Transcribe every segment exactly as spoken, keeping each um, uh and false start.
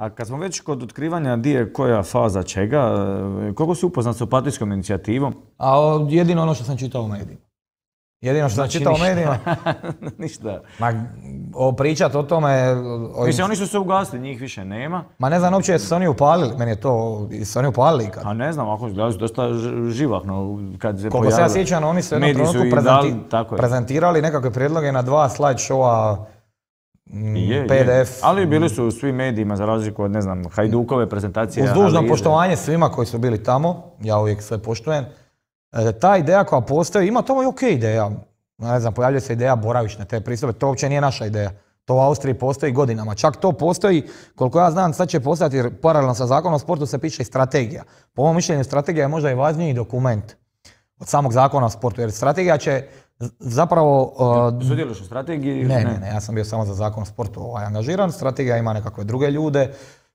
A kad smo već kod otkrivanja di je koja faza čega, koliko si upoznat s Opatijskom inicijativom? A o, jedino ono što sam čitao u medijima. Jedino što Znači sam čitao u ništa. medijima. Ništa. Ma, o, pričat o tome... O, Mislim, oni su se ugasili, njih više nema. Ma ne znam uopće jesu se oni upalili, meni je to, su oni upalili kad? A ne znam, ako izgledali su dosta ž- živahno kad se Koliko se ja pojavili. sjećam, oni su u jednom Mediji su trenutku i dali, prezenti- tako je. prezentirali nekakve prijedloge na dva slide showa, mm, Je, P D F. je. Ali bili su u svim medijima za razliku od, ne znam, Hajdukove prezentacije. Uz dužno analize. poštovanje svima koji su bili tamo, ja uvijek sve poštujem. E, ta ideja koja postoji, ima to i ok ideja. Ne znam, pojavljuje se ideja boravišne te pristupe, to uopće nije naša ideja. To u Austriji postoji godinama. Čak to postoji, koliko ja znam, sad će postojati, jer paralelno sa zakonom o sportu se piše i strategija. Po mom mišljenju strategija je možda i važniji dokument od samog zakona o sportu, jer strategija će zapravo... Uh, Sudjeluješ u strategiji? ne, ne, ne, ja sam bio samo za zakon o sportu ovaj, angažiran. Strategija ima nekakve druge ljude.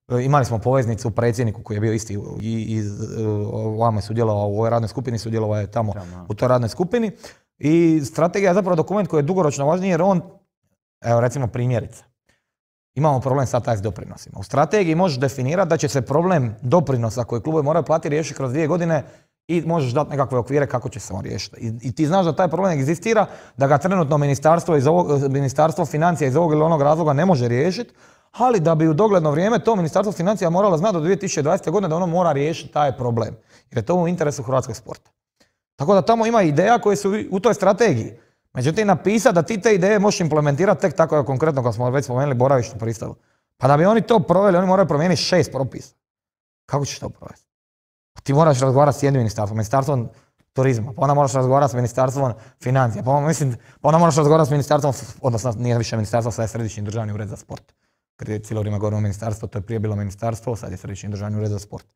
E, Imali smo poveznicu u predsjedniku koji je bio isti i iz ovamo je sudjelovao u ovoj radnoj skupini, sudjelovao je tamo Tamo. u toj radnoj skupini. I strategija je zapravo dokument koji je dugoročno važniji jer on, evo recimo primjerice, imamo problem sad taj s doprinosima. U strategiji možeš definirati da će se problem doprinosa koji klubovi moraju platiti riješiti kroz dvije godine i možeš dati nekakve okvire kako će se on riješiti. I, i ti znaš da taj problem egzistira, da ga trenutno ministarstvo, iz ovog, ministarstvo financija iz ovog ili onog razloga ne može riješiti, ali da bi u dogledno vrijeme to ministarstvo financija moralo znati do dvije tisuće dvadesete. godine da ono mora riješiti taj problem. Jer je to u interesu hrvatskog sporta. Tako da tamo ima ideja koje su u toj strategiji. Međutim, napisati da ti te ideje možeš implementirati tek tako konkretno, kao smo već spomenuli, boravišnu pristavu. Pa da bi oni to proveli, oni moraju promijeniti šest propisa. Kako ćeš to provesti? Ti moraš razgovarati s jednim ministarstvom, ministarstvom turizma, pa onda moraš razgovarati s ministarstvom financija, pa onda, mislim, pa onda moraš razgovarati s ministarstvom, odnosno nije više ministarstvo, sad je Središnji državni ured za sport. Kad je cijelo vrijeme govorimo ministarstvo, to je prije bilo ministarstvo, sad je Središnji državni ured za sport.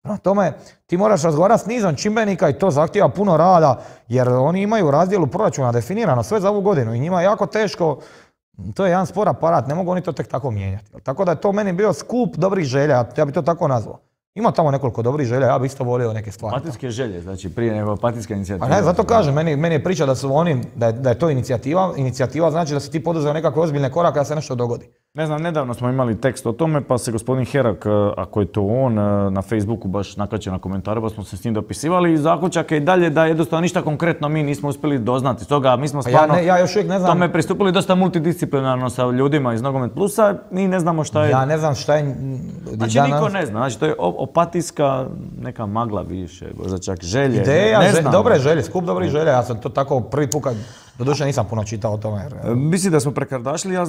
Prema tome, ti moraš razgovarati s nizom čimbenika i to zahtijeva puno rada, jer oni imaju u razdjelu proračuna definirano sve za ovu godinu i njima je jako teško, to je jedan spor aparat, ne mogu oni to tek tako mijenjati. Tako da je to meni bio skup dobrih želja, ja bi to tako nazvao. Ima tamo nekoliko dobrih želja, ja bi isto volio neke stvari. Opatijske želje, znači prije nego Opatijska inicijativa. Pa ne, zato kažem, meni, meni je priča da su oni, da je, da je to inicijativa, inicijativa znači da si ti poduzeo nekakve ozbiljne korake da se nešto dogodi. Ne znam, nedavno smo imali tekst o tome, pa se gospodin Herak, ako je to on, na Facebooku baš nakačio na komentaru, pa smo se s njim dopisivali i zaključak je i dalje da jednostavno ništa konkretno mi nismo uspjeli doznati. Stoga mi smo stvarno ja, ne, ja još uvijek ne znam... tome pristupili dosta multidisciplinarno sa ljudima iz Nogomet Plusa, mi ne znamo šta je... Ja ne znam šta je... Znači ja niko nam... ne zna, znači to je Opatijska neka magla više, možda čak želje, Ideja, ne, ne želje, znam. dobre želje, skup dobrih želja, ja sam to tako prvi put kad, doduše nisam puno čitao o tome. Jer... Mislim da smo prekardašili, ja